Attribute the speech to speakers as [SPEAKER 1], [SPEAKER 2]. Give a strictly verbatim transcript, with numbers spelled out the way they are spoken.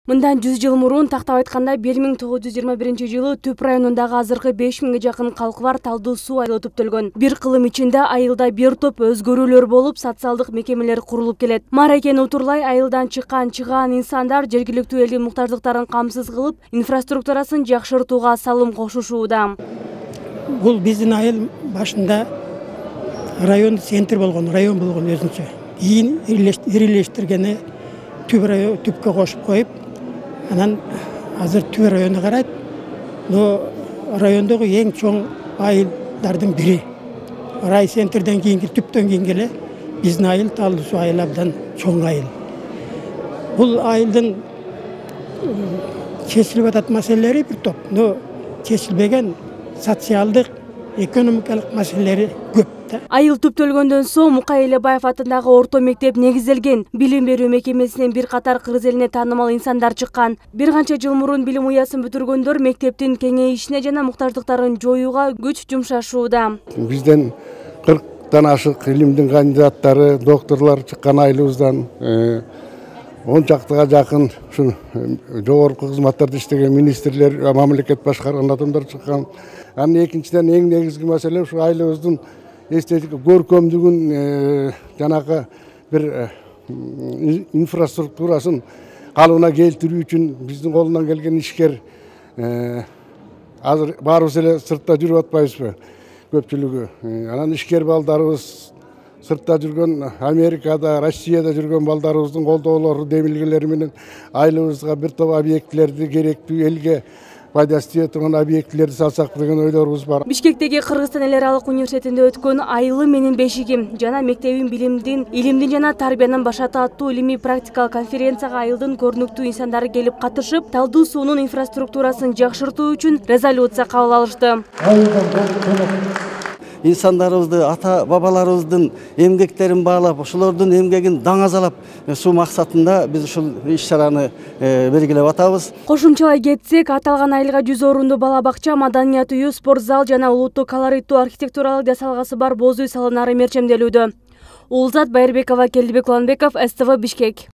[SPEAKER 1] Мындан жүз жыл мурун тактап айтканда бир миң тогуз жүз жыйырма биринчи жылы Түп районундагы азыркы беш миңге жакын калкы бар Талдуу суу айылы түптөлгөн. Бир кылым ичинде айылда бир топ өзгөрүүлөр болуп, социалдык мекемелер курулуп келет. Маракен Утурлай айылдан чыккан чыгаан инсандар жергиликтүү элдин муктаждыктарын камсыз кылып, инфраструктурасын жакшыртууга салым кошушууда.
[SPEAKER 2] Бул биздин айыл башында район центр болгон, район болгон өзүнчө. Кийин ирилештиргени Түп район түпкө кошуп коюп, анан азыр Түп району карайт. Но райондогу эң чоң айылдардын бири. Райцентрден кийинки Түптөн кийинки эле биздин айыл Талдуу суу айылы абдан чоң айыл. Бул айылдын чечилип атат маселелери бир топ, но чечилбеген социалдык, экономикалык маселелери көп.
[SPEAKER 1] Айыл түптөлгөндөн соң Мукай Элебаев атындагы орто мектеп негизделген. Билим берүү мекемесинен бир катар кыргыз элине таанымал инсандар чыккан. Бир канча жыл мурун билим уясын бүтүргөндөр мектептин кеңейишине жана муктаждыктарын жоюуга күч жумшашууда.
[SPEAKER 3] Бизден кырктан ашык илимдин кандидаттары, докторлор чыккан айылыбыздан, он чактыга жакын ушу жогорку кызматтарда иштеген министрлер, мамлекет башкарган адамдар чыккан. Анын экинчиден эң негизги маселе ушу айылыбыздын эстетик көркөмдүгүн, жанагы бир инфраструктурасын калыбына келтирүү үчүн биздин колунан келген ишкер. Азыр баарыбыз эле сыртта жүрүп атпайбызбы, көпчүлүгү. Анан ишкер балдарыбыз, сыртта жүргөн, Америкада, Россияда жүргөн балдарыбыздын колдоолору, демилгелери менен айылыбызга бир топ объектилерди, керектүү элге пайдасы тие турган объектилерди салсак деген ойлорубуз бар.
[SPEAKER 1] Бишкектеги Кыргызстан эл аралык университетинде өткөн Айылы менин бешигим жана мектебин билимдин, илимдин жана тарбиянын башаты аттуу илимий практикалык конференцияга айылдын көрүнүктүү инсандары келип катышып, Талдуу суунун инфраструктурасын жакшыртуу үчүн резолюция кабыл алышты.
[SPEAKER 4] Инсандарыбызды, ата бабаларыбыздын эмгектерин баалап, ошолордун эмгегин даңазалап суу максатында биз ушул иш-чараны белгилеп атабыз.
[SPEAKER 1] Кошумчалай кетсек, аталган айылга жүз орунду бала бакча, маданият үйү, спорт зал жана улуттук колориттүү архитектуралык жасалгасы бар боз үй салынары мерчемделүүдө. Улзат Байырбекова, Келдибек Уланбеков, С Т В Бишкек.